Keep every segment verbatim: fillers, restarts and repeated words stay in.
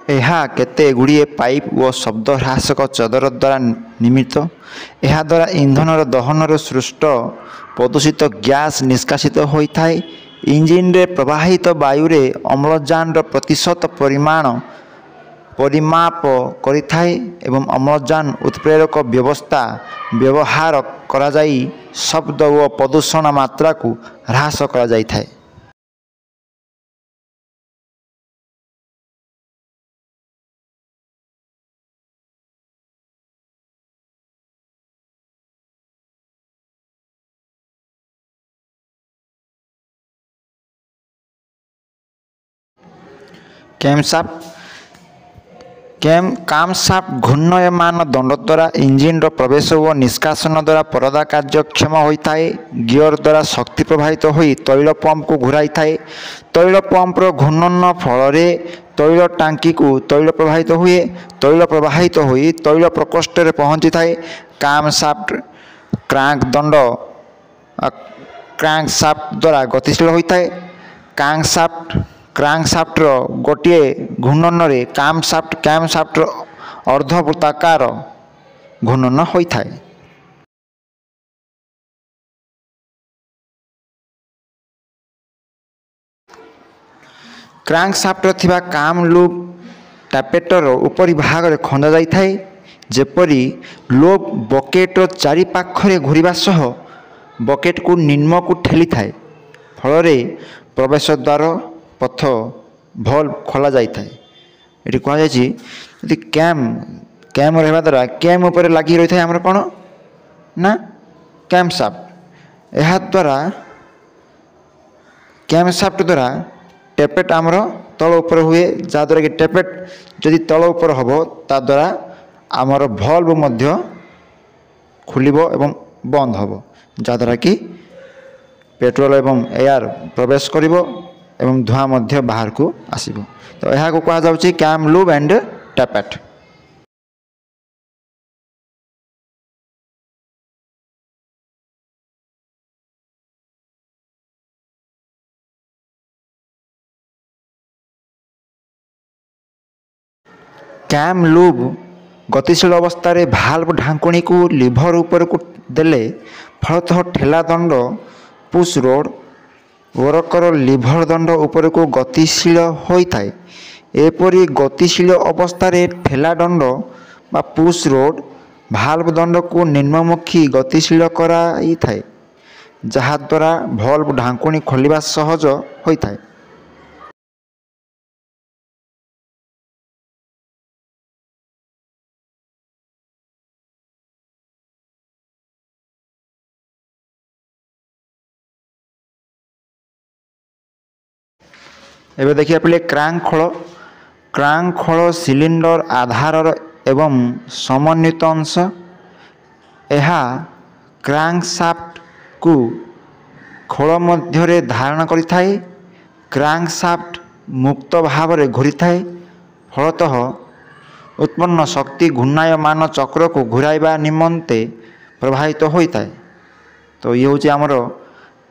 ଏହା କେତେ ଗୁଡ଼ିଏ ପାଇପ୍ ଓ ଶବ୍ଦ ହ୍ରାସକ ଚଦର ଦ୍ୱାରା ନିର୍ମିତ। ଏହାଦ୍ୱାରା ଇନ୍ଧନର ଦହନରୁ ସୃଷ୍ଟ ପ୍ରଦୂଷିତ ଗ୍ୟାସ୍ ନିଷ୍କାସିତ ହୋଇଥାଏ। ଇଞ୍ଜିନରେ ପ୍ରବାହିତ ବାୟୁରେ ଅମ୍ଳଜାନର ପ୍ରତିଶତ ପରିମାଣ ପରିମାପ କରିଥାଏ ଏବଂ ଅମ୍ଳଜାନ ଉତ୍ପ୍ରେରକ ବ୍ୟବସ୍ଥା ବ୍ୟବହାର କରାଯାଇ ଶବ୍ଦ ଓ ପ୍ରଦୂଷଣ ମାତ୍ରାକୁ ହ୍ରାସ କରାଯାଇଥାଏ। କ୍ୟାମସାଫ୍ଟ କେମ୍ କାମସାଫ୍ଟ ଘୂର୍ଣ୍ଣାୟମାନ ଦଣ୍ଡ ଦ୍ୱାରା ଇଞ୍ଜିନର ପ୍ରବେଶ ଓ ନିଷ୍କାସନ ଦ୍ୱାରା ପରଦା କାର୍ଯ୍ୟକ୍ଷମ ହୋଇଥାଏ। ଗିଅର ଦ୍ୱାରା ଶକ୍ତି ପ୍ରବାହିତ ହୋଇ ତୈଳ ପମ୍ପକୁ ଘୂରାଇଥାଏ। ତୈଳ ପମ୍ପର ଘୂର୍ଣ୍ଣନ ଫଳରେ ତୈଳ ଟାଙ୍କିକୁ ତୈଳ ପ୍ରବାହିତ ହୁଏ। ତୈଳ ପ୍ରବାହିତ ହୋଇ ତୈଳ ପ୍ରକୋଷ୍ଠରେ ପହଞ୍ଚିଥାଏ। କାମସାଫ୍ଟ କ୍ରାଙ୍କ ଦଣ୍ଡ କ୍ରାଙ୍କ ସାଫ୍ଟ ଦ୍ୱାରା ଗତିଶୀଳ ହୋଇଥାଏ। କ୍ରାଙ୍କସାଫ୍ଟ କ୍ରାଙ୍କସାଫ୍ଟର ଗୋଟିଏ ଘୂର୍ଣ୍ଣନରେ କାମସାଫ୍ଟ କ୍ୟାମସାଫ୍ଟର ଅର୍ଦ୍ଧବୃତ୍ତାକାର ଘୂର୍ଣ୍ଣନ ହୋଇଥାଏ। କ୍ରାଙ୍କସାଫ୍ଟରେ ଥିବା କାମ୍ ଲୁବ୍ ଟାପେଟର ଉପରି ଭାଗରେ ଖଞ୍ଜା ଯାଇଥାଏ, ଯେପରି ଲୁବ୍ ବକେଟର ଚାରିପାଖରେ ଘୂରିବା ସହ ବକେଟକୁ ନିମ୍ନକୁ ଠେଲିଥାଏ। ଫଳରେ ପ୍ରବେଶ ଦ୍ୱାର ପଥ ଭଲ୍ଭ ଖୋଲା ଯାଇଥାଏ। ଏଠି କୁହାଯାଇଛି, ଯଦି କ୍ୟାମ୍ କ୍ୟାମ୍ ରହିବା ଦ୍ୱାରା କ୍ୟାମ୍ ଉପରେ ଲାଗି ରହିଥାଏ ଆମର କ'ଣ ନା କ୍ୟାମ୍ ସାଫ୍ଟ। ଏହାଦ୍ୱାରା କ୍ୟାମ୍ ସାଫ୍ଟ ଦ୍ୱାରା ଟେପେଟ୍ ଆମର ତଳ ଉପରେ ହୁଏ, ଯାହାଦ୍ୱାରା କି ଟେପେଟ୍ ଯଦି ତଳ ଉପରେ ହେବ, ତାଦ୍ୱାରା ଆମର ଭଲ୍ଭ ମଧ୍ୟ ଖୋଲିବ ଏବଂ ବନ୍ଦ ହେବ, ଯାହାଦ୍ୱାରା କି ପେଟ୍ରୋଲ ଏବଂ ଏୟାର ପ୍ରବେଶ କରିବ ଏବଂ ଧୂଆଁ ମଧ୍ୟ ବାହାରକୁ ଆସିବ। ତ ଏହାକୁ କୁହାଯାଉଛି cam lube and tappet. Cam lube ଗତିଶୀଳ ଅବସ୍ଥାରେ ଭାଲ୍ଭ ଢାଙ୍କୁଣୀକୁ ଲିଭର ଉପରକୁ ଦେଲେ ଫଳତଃ ଠେଲା ଦଣ୍ଡ ପୁସ୍ ରୋଡ଼ ୱରକର ଲିଭର ଦଣ୍ଡ ଉପରକୁ ଗତିଶୀଳ ହୋଇଥାଏ। ଏପରି ଗତିଶୀଳ ଅବସ୍ଥାରେ ଠେଲା ଦଣ୍ଡ ବା ପୁସ୍ ରୋଡ଼ ଭାଲ୍ଭ ଦଣ୍ଡକୁ ନିମ୍ନମୁଖୀ ଗତିଶୀଳ କରାଇଥାଏ, ଯାହାଦ୍ୱାରା ଭଲ୍ଭ ଢାଙ୍କୁଣୀ ଖୋଲିବା ସହଜ ହୋଇଥାଏ। ଏବେ ଦେଖିବା ପିଲେ କ୍ରାଙ୍କ ଖୋଳ। କ୍ରାଙ୍କ ଖୋଳ ସିଲିଣ୍ଡର ଆଧାରର ଏବଂ ସମନ୍ୱିତ ଅଂଶ। ଏହା କ୍ରାଙ୍କଶାଫ୍ଟକୁ ଖୋଳ ମଧ୍ୟରେ ଧାରଣ କରିଥାଏ। କ୍ରାଙ୍କଶାଫ୍ଟ ମୁକ୍ତ ଭାବରେ ଘୂରିଥାଏ। ଫଳତଃ ଉତ୍ପନ୍ନ ଶକ୍ତି ଘୂର୍ଣ୍ଣାୟମାନ ଚକ୍ରକୁ ଘୂରାଇବା ନିମନ୍ତେ ପ୍ରବାହିତ ହୋଇଥାଏ। ତ ଇଏ ହେଉଛି ଆମର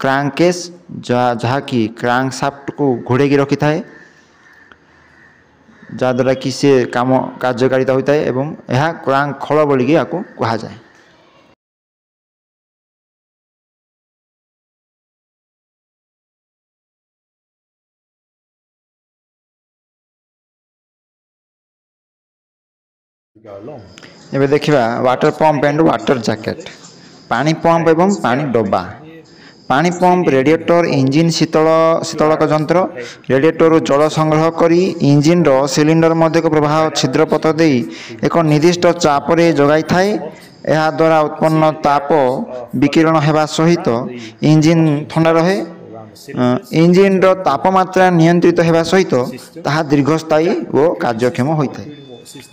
କ୍ରାଙ୍କ କେସ୍, ଯାହା ଯାହାକି କ୍ରାଙ୍କଶାଫ୍ଟକୁ ଘୋଡ଼େଇକି ରଖିଥାଏ, ଯାହାଦ୍ୱାରା କି ସେ କାମ କାର୍ଯ୍ୟକାରିତା ହୋଇଥାଏ ଏବଂ ଏହା କ୍ରାଙ୍କ ଖୋଳ ବୋଲିକି ଏହାକୁ କୁହାଯାଏ। ଏବେ ଦେଖିବା water pump and water jacket, ପାଣି ପମ୍ପ ଏବଂ ପାଣି ଡବା। ପାଣି ପମ୍ପ ରେଡ଼ିଏଟର ଇଞ୍ଜିନ୍ ଶୀତଳ ଶୀତଳକ ଯନ୍ତ୍ର। ରେଡ଼ିଏଟରରୁ ଜଳ ସଂଗ୍ରହ କରି ଇଞ୍ଜିନ୍ର ସିଲିଣ୍ଡର ମଧ୍ୟକୁ ପ୍ରବାହ ଛିଦ୍ର ପଥ ଦେଇ ଏକ ନିର୍ଦ୍ଦିଷ୍ଟ ଚାପରେ ଯୋଗାଇଥାଏ। ଏହାଦ୍ୱାରା ଉତ୍ପନ୍ନ ତାପ ବିକିରଣ ହେବା ସହିତ ଇଞ୍ଜିନ୍ ଥଣ୍ଡା ରହେ। ଇଞ୍ଜିନ୍ର ତାପମାତ୍ରା ନିୟନ୍ତ୍ରିତ ହେବା ସହିତ ତାହା ଦୀର୍ଘସ୍ଥାୟୀ ଓ କାର୍ଯ୍ୟକ୍ଷମ ହୋଇଥାଏ।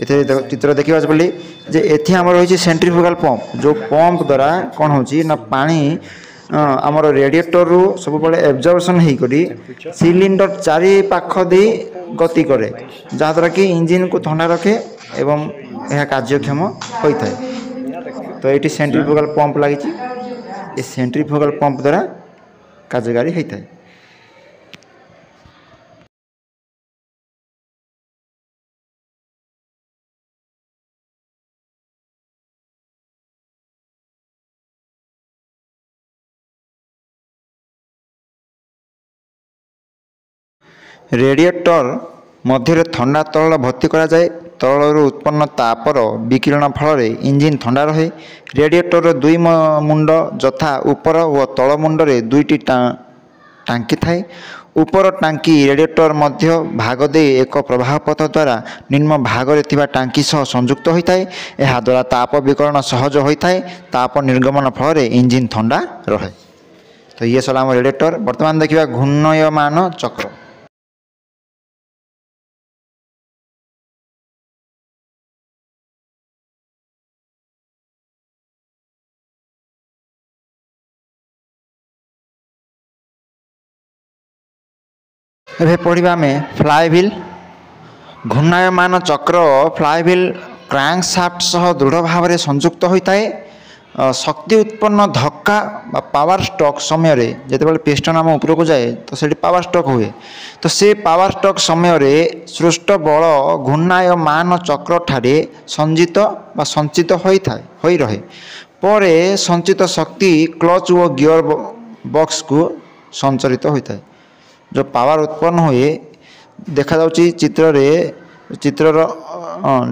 ଏଥିରେ ଚିତ୍ର ଦେଖିବା ବୋଲି ଯେ ଏଠି ଆମର ରହିଛି ସେଣ୍ଟ୍ରିଫୁଗାଲ ପମ୍ପ, ଯେଉଁ ପମ୍ପ ଦ୍ୱାରା କ'ଣ ହେଉଛି ନା ପାଣି ଆମର ରେଡ଼ିଏଟରରୁ ସବୁବେଳେ ଏବଜର୍ପସନ୍ ହେଇକରି ସିଲିଣ୍ଡର ଚାରି ପାଖ ଦେଇ ଗତି କରେ, ଯାହାଦ୍ୱାରା କି ଇଞ୍ଜିନ୍କୁ ଥଣ୍ଡା ରଖେ ଏବଂ ଏହା କାର୍ଯ୍ୟକ୍ଷମ ହୋଇଥାଏ। ତ ଏଇଠି ସେଣ୍ଟ୍ରିଫୁଗାଲ ପମ୍ପ ଲାଗିଛି। ଏ ସେଣ୍ଟ୍ରିଫୁଗାଲ ପମ୍ପ ଦ୍ୱାରା କାର୍ଯ୍ୟକାରୀ ହୋଇଥାଏ। ରେଡ଼ିଏଟର ମଧ୍ୟରେ ଥଣ୍ଡା ତରଳ ଭର୍ତ୍ତି କରାଯାଏ। ତରଳରୁ ଉତ୍ପନ୍ନ ତାପର ବିକିରଣ ଫଳରେ ଇଞ୍ଜିନ୍ ଥଣ୍ଡା ରହେ। ରେଡ଼ିଏଟରର ଦୁଇ ମୁଣ୍ଡ ଯଥା ଉପର ଓ ତଳ ମୁଣ୍ଡରେ ଦୁଇଟି ଟାଙ୍କି ଥାଏ। ଉପର ଟାଙ୍କି ରେଡ଼ିଏଟର ମଧ୍ୟ ଭାଗ ଦେଇ ଏକ ପ୍ରବାହ ପଥ ଦ୍ୱାରା ନିମ୍ନ ଭାଗରେ ଥିବା ଟାଙ୍କି ସହ ସଂଯୁକ୍ତ ହୋଇଥାଏ। ଏହାଦ୍ୱାରା ତାପ ବିକିରଣ ସହଜ ହୋଇଥାଏ। ତାପ ନିର୍ଗମନ ଫଳରେ ଇଞ୍ଜିନ୍ ଥଣ୍ଡା ରହେ। ତ ଇଏ ସରିଲା ଆମ ରେଡ଼ିଏଟର। ବର୍ତ୍ତମାନ ଦେଖିବା ଘୂର୍ଣ୍ଣୟମାନ ଚକ୍ର। ଏବେ ପଢ଼ିବା ଆମେ ଫ୍ଲାଏ ହ୍ୱିଲ୍। ଘୂର୍ଣ୍ଣାୟମାନ ଚକ୍ର ଫ୍ଲାଏ ହ୍ୱିଲ୍ କ୍ରାଙ୍କ ସାଫ୍ଟ ସହ ଦୃଢ଼ ଭାବରେ ସଂଯୁକ୍ତ ହୋଇଥାଏ। ଶକ୍ତି ଉତ୍ପନ୍ନ ଧକ୍କା ବା ପାୱାର ଷ୍ଟ୍ରୋକ୍ ସମୟରେ ଯେତେବେଳେ ପିଷ୍ଟନ ଆମ ଉପରକୁ ଯାଏ, ତ ସେଠି ପାୱାର ଷ୍ଟ୍ରୋକ୍ ହୁଏ। ତ ସେ ପାୱାର ଷ୍ଟ୍ରୋକ୍ ସମୟରେ ସୃଷ୍ଟ ବଳ ଘୂର୍ଣ୍ଣାୟମାନ ଚକ୍ରଠାରେ ସଞ୍ଚିତ ବା ସଞ୍ଚିତ ହୋଇଥାଏ ହୋଇ ରହେ। ପରେ ସଞ୍ଚିତ ଶକ୍ତି କ୍ଲଚ୍ ଓ ଗିଅର ବକ୍ସକୁ ସଞ୍ଚରିତ ହୋଇଥାଏ। ଯେଉଁ ପାୱାର ଉତ୍ପନ୍ନ ହୁଏ, ଦେଖାଯାଉଛି ଚିତ୍ରରେ, ଚିତ୍ରର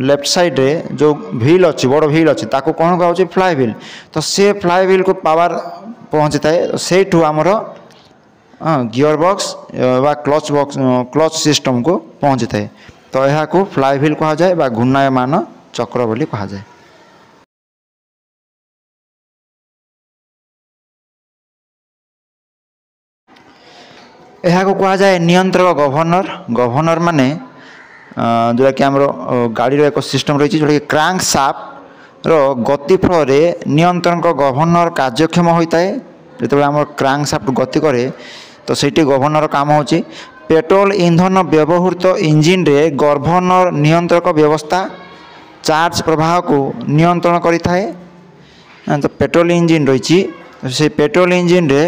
ଲେଫ୍ଟ ସାଇଡ଼ରେ ଯେଉଁ ହ୍ୱିଲ୍ ଅଛି, ବଡ଼ ହ୍ୱିଲ୍ ଅଛି, ତାକୁ କ'ଣ କୁହାଯାଉଛି? Fly wheel. ତ ସେ ଫ୍ଲାଏ ହ୍ୱିଲ୍କୁ ପାୱାର ପହଞ୍ଚିଥାଏ। ସେଇଠୁ ଆମର ଗିଅର ବକ୍ସ ବା କ୍ଲଚ୍ ବକ୍ସ, କ୍ଲଚ୍ ସିଷ୍ଟମକୁ ପହଞ୍ଚିଥାଏ। ତ ଏହାକୁ ଫ୍ଲାଏ ହ୍ୱିଲ୍ କୁହାଯାଏ ବା ଘୂର୍ଣ୍ଣାୟମାନ ଚକ୍ର ବୋଲି କୁହାଯାଏ। ଏହାକୁ କୁହାଯାଏ ନିୟନ୍ତ୍ରକ ଗଭର୍ଣ୍ଣର। ଗଭର୍ଣ୍ଣର ମାନେ ଯେଉଁଟାକି ଆମର ଗାଡ଼ିର ଏକ ସିଷ୍ଟମ୍ ରହିଛି, ଯେଉଁଟାକି କ୍ରାଙ୍କ ସାଫ୍ଟର ଗତି ଫଳରେ ନିୟନ୍ତ୍ରକ ଗଭର୍ଣ୍ଣର କାର୍ଯ୍ୟକ୍ଷମ ହୋଇଥାଏ। ଯେତେବେଳେ ଆମର କ୍ରାଙ୍କ ସାଫ୍ଟ ଗତି କରେ, ତ ସେଇଠି ଗଭର୍ଣ୍ଣର କାମ ହେଉଛି। ପେଟ୍ରୋଲ ଇନ୍ଧନ ବ୍ୟବହୃତ ଇଞ୍ଜିନରେ ଗଭର୍ଣ୍ଣର ନିୟନ୍ତ୍ରକ ବ୍ୟବସ୍ଥା ଚାର୍ଜ ପ୍ରବାହକୁ ନିୟନ୍ତ୍ରଣ କରିଥାଏ। ତ ପେଟ୍ରୋଲ ଇଞ୍ଜିନ୍ ରହିଛି, ସେଇ ପେଟ୍ରୋଲ ଇଞ୍ଜିନରେ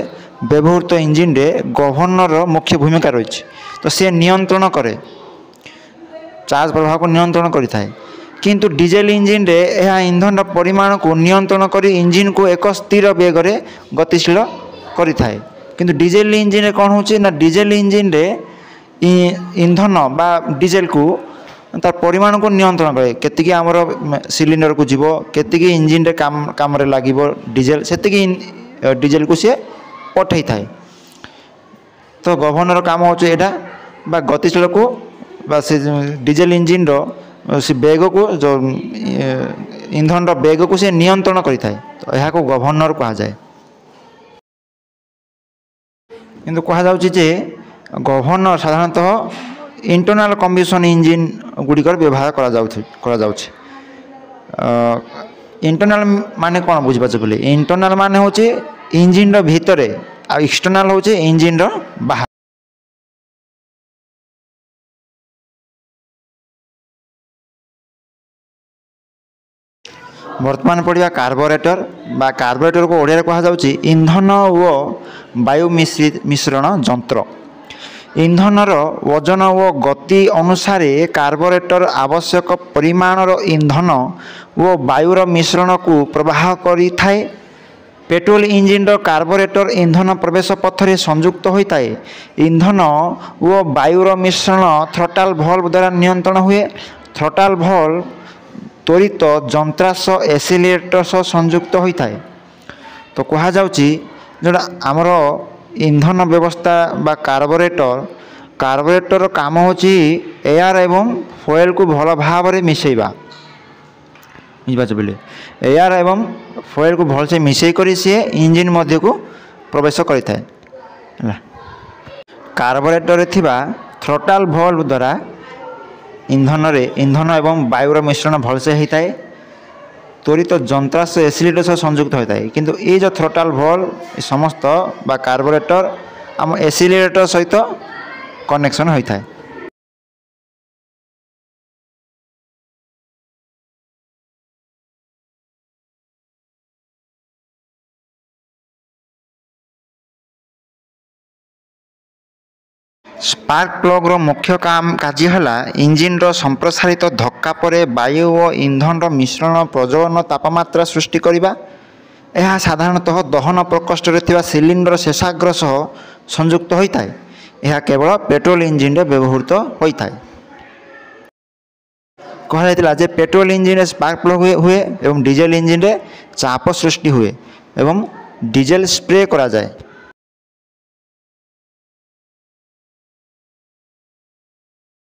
ବ୍ୟବହୃତ ଇଞ୍ଜିନରେ ଗଭର୍ଣ୍ଣରର ମୁଖ୍ୟ ଭୂମିକା ରହିଛି। ତ ସେ ନିୟନ୍ତ୍ରଣ କରେ, ଚାର୍ଜ ପ୍ରବାହକୁ ନିୟନ୍ତ୍ରଣ କରିଥାଏ। କିନ୍ତୁ ଡିଜେଲ ଇଞ୍ଜିନରେ ଏହା ଇନ୍ଧନର ପରିମାଣକୁ ନିୟନ୍ତ୍ରଣ କରି ଇଞ୍ଜିନକୁ ଏକ ସ୍ଥିର ବେଗରେ ଗତିଶୀଳ କରିଥାଏ। କିନ୍ତୁ ଡିଜେଲ ଇଞ୍ଜିନରେ କ'ଣ ହେଉଛି ନା, ଡିଜେଲ ଇଞ୍ଜିନରେ ଇନ୍ଧନ ବା ଡିଜେଲକୁ ତାର ପରିମାଣକୁ ନିୟନ୍ତ୍ରଣ କରେ। କେତିକି ଆମର ସିଲିଣ୍ଡରକୁ ଯିବ, କେତିକି ଇଞ୍ଜିନରେ କାମ କାମରେ ଲାଗିବ ଡିଜେଲ, ସେତିକି ଡିଜେଲକୁ ସିଏ ପଠାଇଥାଏ। ତ ଗଭର୍ଣ୍ଣର କାମ ହେଉଛି ଏଇଟା, ବା ଗତିଶୀଳକୁ ବା ସେ ଡିଜେଲ ଇଞ୍ଜିନର ସେ ବେଗକୁ, ଯେଉଁ ଇନ୍ଧନର ବେଗକୁ ସେ ନିୟନ୍ତ୍ରଣ କରିଥାଏ। ତ ଏହାକୁ ଗଭର୍ଣ୍ଣର କୁହାଯାଏ। କିନ୍ତୁ କୁହାଯାଉଛି ଯେ ଗଭର୍ଣ୍ଣର ସାଧାରଣତଃ ଇଣ୍ଟରନାଲ୍ କମ୍ବସନ୍ ଇଞ୍ଜିନ୍ ଗୁଡ଼ିକର ବ୍ୟବହାର କରାଯାଉଛି କରାଯାଉଛି ଇଣ୍ଟରନାଲ୍ ମାନେ କ'ଣ ବୁଝିପାରୁଛ ବୋଲି? ଇଣ୍ଟରନାଲ୍ ମାନେ ହେଉଛି ଇଞ୍ଜିନ୍ର ଭିତରେ, ଆଉ ଏକ୍ସଟର୍ନାଲ୍ ହେଉଛି ଇଞ୍ଜିନ୍ର ବାହାରେ। ବର୍ତ୍ତମାନ ପଢ଼ିବା କାର୍ବୋରେଟର ବା କାର୍ବୋରେଟରକୁ ଓଡ଼ିଆରେ କୁହାଯାଉଛି ଇନ୍ଧନ ଓ ବାୟୁ ମିଶ୍ରଣ ଯନ୍ତ୍ର। ଇନ୍ଧନର ଓଜନ ଓ ଗତି ଅନୁସାରେ କାର୍ବୋରେଟର ଆବଶ୍ୟକ ପରିମାଣର ଇନ୍ଧନ ଓ ବାୟୁର ମିଶ୍ରଣକୁ ପ୍ରବାହ କରିଥାଏ। ପେଟ୍ରୋଲ ଇଞ୍ଜିନର କାର୍ବୋରେଟର ଇନ୍ଧନ ପ୍ରବେଶ ପଥରେ ସଂଯୁକ୍ତ ହୋଇଥାଏ। ଇନ୍ଧନ ଓ ବାୟୁର ମିଶ୍ରଣ ଥ୍ରଟାଲ ଭଲ୍ଭ ଦ୍ୱାରା ନିୟନ୍ତ୍ରଣ ହୁଏ। ଥ୍ରଟାଲ ଭଲ୍ଭ ତ୍ୱରିତ ଯନ୍ତ୍ରାଂଶ ଏସିଲିରେଟର ସହ ସଂଯୁକ୍ତ ହୋଇଥାଏ। ତ କୁହାଯାଉଛି ଯେଉଁଟା ଆମର ଇନ୍ଧନ ବ୍ୟବସ୍ଥା ବା କାର୍ବୋରେଟର, କାର୍ବୋରେଟର କାମ ହେଉଛି ଏୟାର ଏବଂ ଫୁଏଲକୁ ଭଲ ଭାବରେ ମିଶାଇବା। ବୁଝିପାରୁଛ ବୋଲି? ଏୟାର ଏବଂ ଫୁଏଲକୁ ଭଲସେ ମିଶାଇ କରି ସିଏ ଇଞ୍ଜିନ୍ ମଧ୍ୟକୁ ପ୍ରବେଶ କରିଥାଏ। ହେଲା, କାର୍ବୋରେଟରରେ ଥିବା ଥ୍ରଟାଲ ଭଲ୍ଭ ଦ୍ୱାରା ଇନ୍ଧନରେ ଇନ୍ଧନ ଏବଂ ବାୟୁର ମିଶ୍ରଣ ଭଲସେ ହୋଇଥାଏ। ତ୍ୱରିତ ଯନ୍ତ୍ରାଂଶ ଏସିଲିଟର ସହ ସଂଯୁକ୍ତ ହୋଇଥାଏ। କିନ୍ତୁ ଏଇ ଯେଉଁ ଥ୍ରଟାଲ ଭଲ୍ଭ ସମସ୍ତ ବା କାର୍ବୋରେଟର ଆମ ଏସିଲିରେଟର ସହିତ କନେକ୍ସନ୍ ହୋଇଥାଏ। ସ୍ପାର୍କ ପ୍ଲଗ୍ର ମୁଖ୍ୟ କାମ କାର୍ଯ୍ୟ ହେଲା ଇଞ୍ଜିନ୍ର ସମ୍ପ୍ରସାରିତ ଧକ୍କା ପରେ ବାୟୁ ଓ ଇନ୍ଧନର ମିଶ୍ରଣ ପ୍ରଜ୍ୱଳନ ତାପମାତ୍ରା ସୃଷ୍ଟି କରିବା। ଏହା ସାଧାରଣତଃ ଦହନ ପ୍ରକୋଷ୍ଠରେ ଥିବା ସିଲିଣ୍ଡର ଶେଷାଗ୍ର ସହ ସଂଯୁକ୍ତ ହୋଇଥାଏ। ଏହା କେବଳ ପେଟ୍ରୋଲ ଇଞ୍ଜିନରେ ବ୍ୟବହୃତ ହୋଇଥାଏ। କୁହାଯାଇଥିଲା ଯେ ପେଟ୍ରୋଲ ଇଞ୍ଜିନରେ ସ୍ପାର୍କ ପ୍ଲଗ୍ ହୁଏ ହୁଏ ଏବଂ ଡିଜେଲ ଇଞ୍ଜିନରେ ଚାପ ସୃଷ୍ଟି ହୁଏ ଏବଂ ଡିଜେଲ ସ୍ପ୍ରେ କରାଯାଏ।